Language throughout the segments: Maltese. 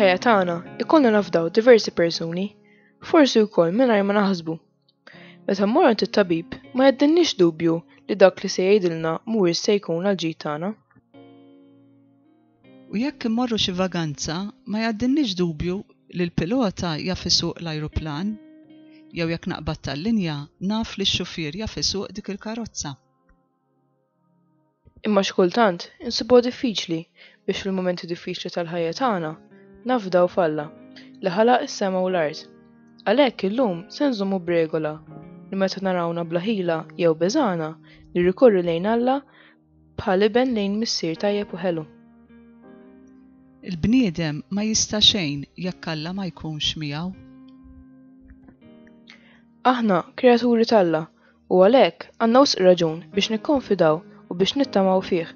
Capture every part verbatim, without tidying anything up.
Fil-ħajja tagħna ikollna nafdaw diversi persuni, forsi wkoll mingħajr ma naħsbu. Meta mmorru għand it-tabib ma jgħaddilniex dubju li dak li se jgħidilna mhuwiex se jkun għall-ġid tagħna. U jekk immorru xi vaganza ma jgħaddilniex dubju li l-pilota jaf isuq l-ajruplan, jew jekk naqbad tal-linja naf li x-xufier jaf isuq dik il-karozza. Imma xi kultant insibuha diffiċli biex fil-mumenti diffiċli tal-ħajja tagħna nafdaw f'Alla li ħalaq is-sema u l-art. Għalhekk illum se nżommu b'regola li meta narawna bla ħila jew beżgħana nirrikorru lejn Alla bħal iben lejn missier tajjeb u ħelu. Il-bniedem ma jista' xejn jekk Alla ma jkunx miegħu. Aħna kreaturi t'Alla u għalhekk għandna wisq raġun biex nikkonfidaw u biex nittamaw fih.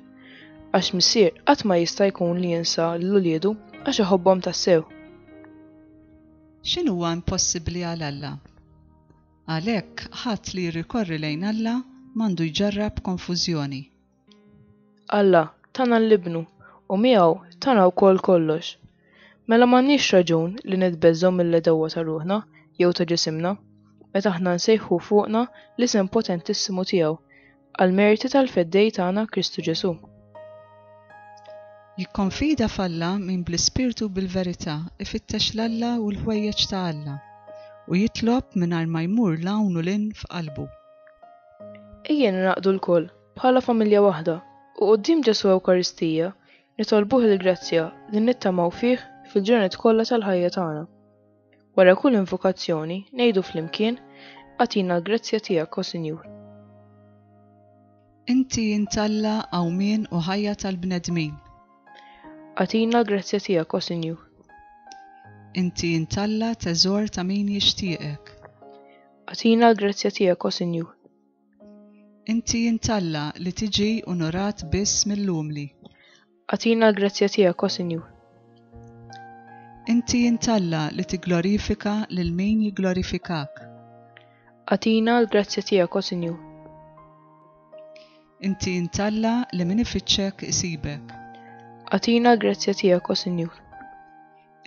Għax missier qatt ma jista' jkun li jinsa lil uliedu għax iħobbhom tassew. X'inhuwa impossibbli għal Alla? Għalhekk ħadd li jirrikorri lejn Alla m'għandu jġarrab konfużjoni. Alla tana 'l Ibnu u miegħu tana wkoll kollox. Mela m'għandniex raġun li nitbeżżgħu mill-għedewwa ta' ruħna jew ta' ġisimna, meta aħna nsejħu fuqna l-isem potentissimu tiegħu għall-merti tal-Feddej tagħna Kristu Ġesù. Jikkonfida f'Alla min bl-ispirtu u bil-verità ifittex 'l Alla u l-ħwejjeġ ta' Alla u jitlob mingħajr ma jmur 'l hawn u 'l hinn f'qalbu. Ejja ningħaqdu lkoll bħala familja waħda u quddiem Ġesù Ewkaristija nitolbuh il-grazzja li nittamaw fih fil-ġranet kollha tal-ħajja tagħna. Wara kull invokazzjoni ngħidu flimkien agħtina l-grazzja tiegħek, o Sinjur. Inti int Alla qawmien u ħajja tal-bnedmin. Agħtina l-grazzja tiegħek, o Sinjur. Inti int Alla teżor ta' min jixtieqek. Agħtina l-grazzja tiegħek, o Sinjur. Inti int Alla li tiġi onorat biss mill-umli. Agħtina l-grazzja tiegħek, o Sinjur. Inti int Alla li tigglorifika lil min jigglorifikak. Agħtina l-grazzja tiegħek, o Sinjur. Inti int Alla li min ifittxek isibek. Agħtina l-grazzja tiegħek, o Sinjur.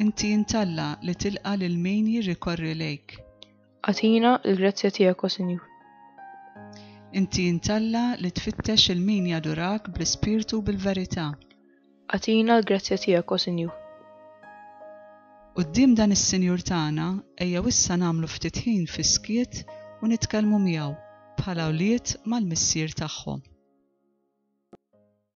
Inti int Alla li tilqa' lil min jirrikorri lejk. Agħtina l-grazzja tiegħek, o Sinjur. Inti int Alla li tfittex il min jadurak bl-ispirtu u bil-verità. Agħtina l-grazzja tiegħek, o Sinjur. Quddiem dan is-Sinjur tagħna ejjew issa nagħmlu ftit ħin fis-skiet u nitkellmu miegħu bħala wlied mal-Missier tagħhom.